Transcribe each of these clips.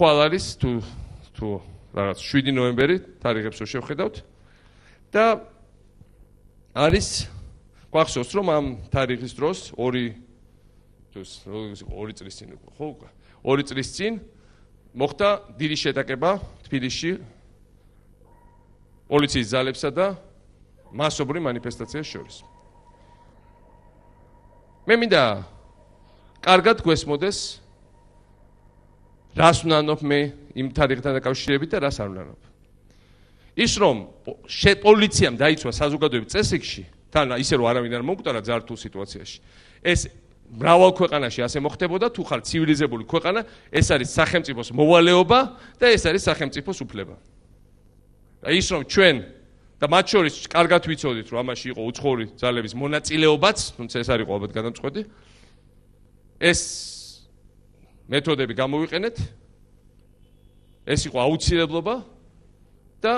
ხვალ არის თუ რაღაც 7 ნოემბერი თარიღებს რო შევხედავთ და არის გვახსოვს რომ ამ თარიღის დროს 2 წლის წინ ხო 2 წლის წინ მოხდა დიდი შეტაკება თბილისში პოლიციის ძალებსა და მასობრივ მანიფესტაციას შორის. მე მინდა კარგად გვესმოდეს რას ვნანობ მე იმ თარიღთან დაკავშირებით და რას არ ვნანობ. ის რომ პოლიციამ დაიცვა საზოგადოების წესრიგში, თან ისე რომ არავინ არ მომკვდარა ძართულ სიტუაციაში. ეს მრავალ ქვეყანაში ასე მოხდებოდა, თუ ხარ ცივილიზებული ქვეყანა, ეს არის სახელმწიფოს მოვალეობა და ეს არის სახელმწიფოს უფლება. ის რომ ჩვენ და მათ შორის კარგად ვიცოდით, რომ ამაში იყო უცხოური ძალების მონაწილეობაც, თუმცა ეს არ იყო ალბათ გადამწყვეტი. ეს მეთოდები გამოვიყენეთ. ეს იყო აუცილებლობა და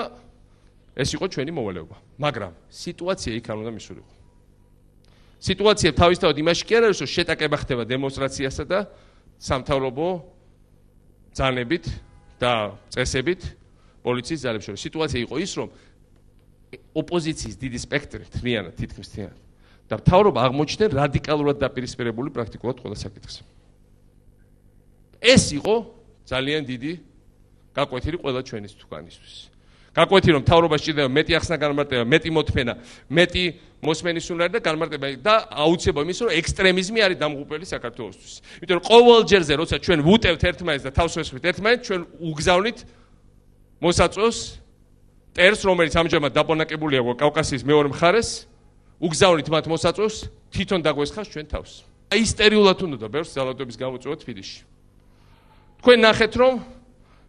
ეს იყო ჩვენი მოვალეობა. მაგრამ სიტუაცია იქ არ უნდა მისულიყო. სიტუაცია თავისთავად იმაში კი არ არის, რომ შეტაკება ხდება დემონსტრაციასა და სამთავრობო ძალებით და წესებით პოლიციის ძალებს შორის. სიტუაცია იყო ის, რომ ოპოზიციის დიდი სპექტრი თლიანად თითქმის თლიანად და მთავრობა აღმოჩნდნენ რადიკალურად დაპირისპირებული პრაქტიკულად ყველა საკითხზე. ეს იყო ძალიან დიდი გაკვეთილი ყველა ჩვენის თუკანისთვის. გაკვეთი რომ მთავრობა სჭირდება მეტი ახსნა განმარტება, მეტი მოთმენა, მეტი მოსმენის უნარი და განმარტება და აუცილებლობა იმის რომ ექსტრემიზმი არის დამღუპელი საქართველოსთვის. იმიტომ რომ ყოველ ჯერზე როცა ჩვენ ვუტევთ ერთმანეთს და თავს ვესხმით ერთმანეთს, ჩვენ უგზავნით მოსაწვევს ტერს, რომელიც ამჟამად დაპონაკებულია კავკასიის მეორე მხარეს, უგზავნით მათ მოსაწვევს, თვითონ დაგვესხავს ჩვენ თავს. ისტერიულად უნდა ბევრს ძალადობის გამოწვევა თბილისში. თქვენ ნახეთ რომ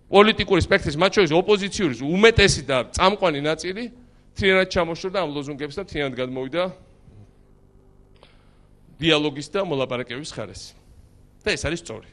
პოლიტიკური სპექტრის მათ შორის ოპოზიციური უმეტესი და წამყვანი ნაწილი თლიანად ჩამოშორდა ამ ლოზუნგებს და თლიანად გადმოვიდა დიალოგის და მოლაპარაკების ხარეს. და ეს არის სწორი.